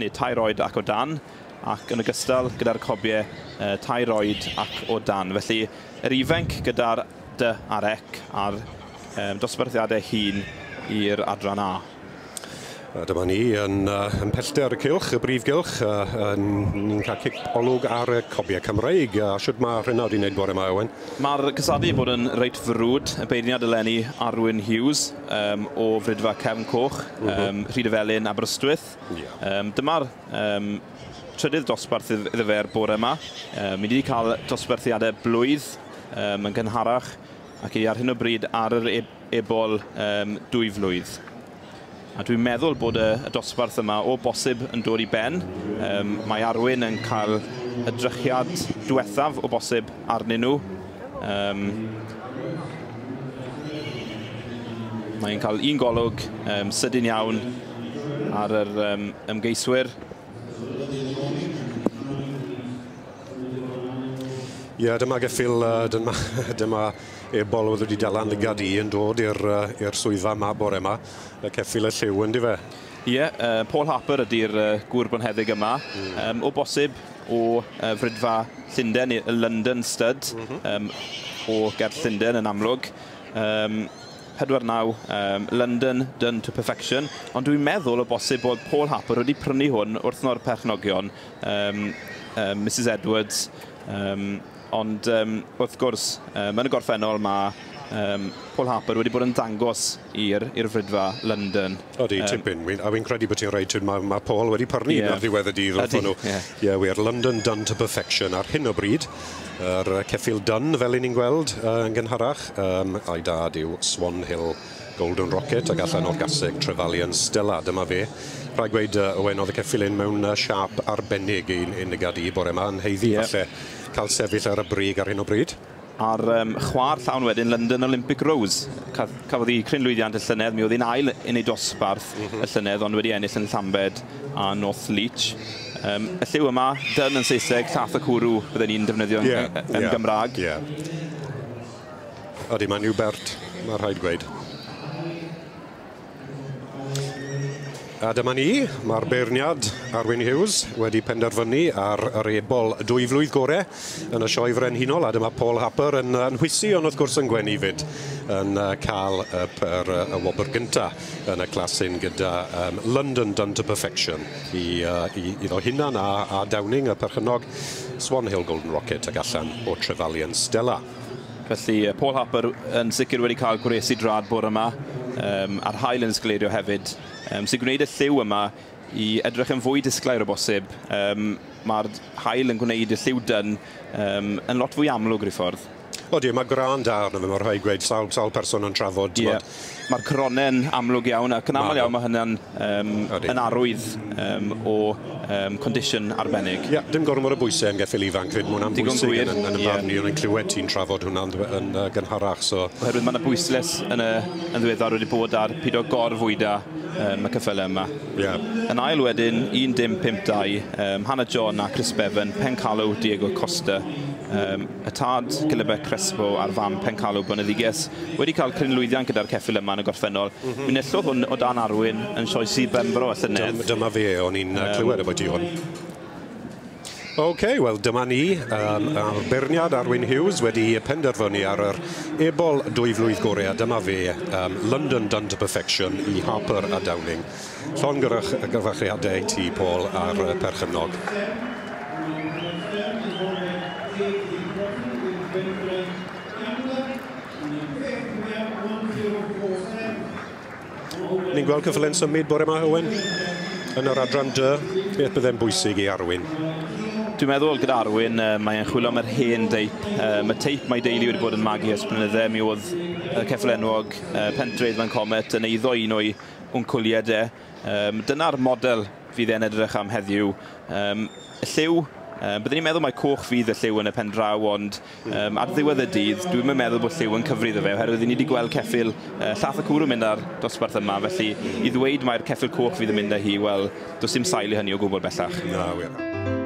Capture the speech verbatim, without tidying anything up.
neu tair oed ac o dan, ac yn ogystal gyda'r cobiau uh, tair oed ac o dan. Felly, yr ifanc gyda'r D a'r C a'r um, dosbarthiadau hŷn i'r adran A. A dyma ni yn, uh, yn pellter y cylch, y brif gylch, uh, yn, ni'n cael cic olwg ar y cobiau Cymreig. A shwt mae rhywun wedi wneud bore yma, Owen? Mae'r cystadlu bod yn reit frwd. Y beirniad eleni Arwyn Hughes um, o Fridfa Cefn Coch, mm -hmm. um, Rhydyfelin, Aberystwyth. Yeah. Um, dyma'r um, trydydd dosbarth iddo fe'r bore yma. Um, mi wedi cael dosbarthiadau blwydd um, yn gynharach ac i ar hyn o bryd ar yr ebol um, dwy flwydd. A dwi'n meddwl bod y, y dosbarth yma o bosib yn dod i ben. Um, mae Arwyn yn cael y drychiad diwethaf o bosib arnyn nhw. Um, mae'n cael un golwg um, sydyn iawn ar yr um, ymgeiswyr. Ie, yeah, dyma geffyl, dyma, dyma ebol oedd wedi dal lygad i yn dod i'r swyddfa yma bore yma. Y ceffyl y lliw, yndi fe? Ie, yeah, uh, Paul Harper ydy'r uh, gŵr bonheddig yma. Mm. Um, o bosib o uh, Fridfa Llundain, y London Stud, mm -hmm. um, o ger Llundain yn amlwg. Um, pedwar naw, um, London done to perfection. Ond dwi'n meddwl o bosib bod Paul Harper wedi prynu hwn wrth no'r perchnogion, um, um, Missus Edwards. Um, Ond um, wrth gwrs, um, yn y gorffennol mae um, Paul Harper wedi bod yn dangos i'r Fridfa London. Odi, um, tipyn. A wy'n credu bod ti'n reit, mae, ma Paul wedi prynu yeah. ar ddiwedd y dydd wrth nhw. Ie, yeah. yeah, wir London done to perfection ar hyn o bryd. Yr ceffyl done, fel i ni'n gweld uh, yn gynharach, um, a'i dad yw Swan Hill Golden Rocket ac allan o'r gaseg Trevelyan Stella. Dyma fe. Rhaid gweud, uh, Owen, oedd y ceffyl un mewn uh, siâp arbennig i'n lygad i bore yma, yn haeddu yeah. falle cael sefyll ar y brig ar hyn o bryd. A'r um, chwaer llawn wedyn, London Olympic Rose. Cafodd hi cryn lwyddiant y llynedd, mi oedd hi'n ail yn ei dosbarth mm -hmm. y llynedd, ond wedi ennill yn Llambed a North Leach. Um, y lliw yma, dyn yn Saesneg, llath y cwrw, bydden ni'n defnyddio yeah, yn, yn yeah, Gymraeg. Yeah. Odi, mae'n Hubert, mae rhaid gweud. A dyma ni, mae'r beirniad Arwyn Hughes wedi penderfynu ar yr ebol dwy flwydd gore yn y sioe frenhinol, a dyma Paul Harper yn, yn hwysu, ond wrth gwrs yn gwenu fyd, yn cael y, y, y wobr gynta yn y clasyn gyda um, London Done to Perfection i, uh, i, iddo hunan a, a Downing, y perchennog Swan Hill Golden Rocket ac allan o Trevelyan Stella. Felly Paul Harper yn sicr wedi cael gwres i drad bore yma, um, a'r haul yn sgleirio hefyd, um, sy'n gwneud y lliw yma i edrych yn fwy disglair o bosib. Um, Mae'r haul yn gwneud y lliw dyn um, yn lot fwy amlwg rhyw ffordd. Odi, mae gwrân da arno fe, mae'n rhaid gweud, sawl, sawl person yn trafod. Yeah. Mae'r coronen amlwg iawn, ac yn aml iawn mae hynny'n um, yn arwydd um, o um, condition arbennig. Ie, yeah, dim gormod o bwysau yn geffyl ifanc, fyd, mae hwnna'n bwysig yn, yn, yn y barn i, o'n i'n clywed ti'n trafod hwnna'n yn, yn gynharach. So. Oherwydd mae yna bwyslais yn, y, yn ddiweddar wedi bod ar pido gorfwyda um, y ceffylau yma. Yeah. Yn ail wedyn, un dim pump dau, um, Hannah John a Chris Bevan, Pencalw Diego Costa. Um, y tad Gilybeth Crespo a'r fam Pencalw Boneddiges wedi cael cryn lwyddiant gyda'r ceffyl yma yn y gorffennol. Mm -hmm. Mi enillodd hwn o dan Arwyn yn sioe Sir Benfro y llynedd. Dyma fe, o'n i'n um, clywed about hwn. OK, wel dyma ni, um, a'r beirniad Arwyn Hughes wedi penderfynu ar yr ebol dwy flwydd gorau, a dyma fe, um, London Done to Perfection i Harper a Downing. Llongyfarchiadau i ti, Paul, a'r perchennog. Ni'n gweld cyffyle'n symud bore yma, Owen, yn yr adran D. Beth bydde'n bwysig i Arwyn? Dwi'n meddwl gyda Arwyn, uh, mae'n chwilio am yr hen deip. Um, y teip mae deulu wedi bod yn magu ers blynydde. Mi oedd y ceffyl enwog uh, Pentredd Van Comet yn eiddo un o'i wncwliad e. Um, dyna'r model fydd e'n edrych am heddiw. Um, y lliw, um, byddwn ni'n meddwl mai coch fydd y lliw yn y pen draw, ond um, ar ddiwedd y dydd, dwi'n meddwl bod lliw yn cyfri iddo fe, oherwydd ni wedi gweld ceffyl uh, llath y cwrw mynd ar dosbarth yma, felly i ddweud mai'r ceffyl coch fydd yn mynd â hi, wel, does dim sail i hynny o gwbl bellach. Na, wir.